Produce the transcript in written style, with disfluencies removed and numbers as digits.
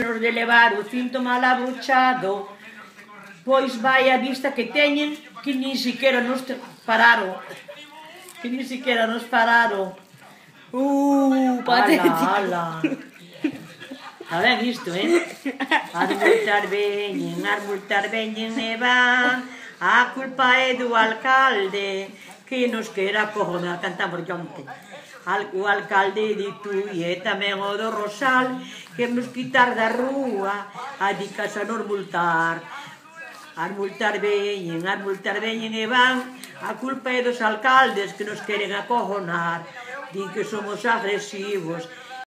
nos de levar o cinto mal abrochado, pois vai a vista que teñen que nin siquiera nos pararon. Que nin siquiera nos pararon. Patético. Ala. Está ben isto, As multar veñen e van. A culpa é do alcalde que nos quera cojonar. Cantamos onte. O alcalde de Tui e tamén o do Rosal que nos quitar da rúa a di casa nos multar. As multar veñen e van. A culpa é dos alcaldes que nos queren acojonar. Din que somos agresivos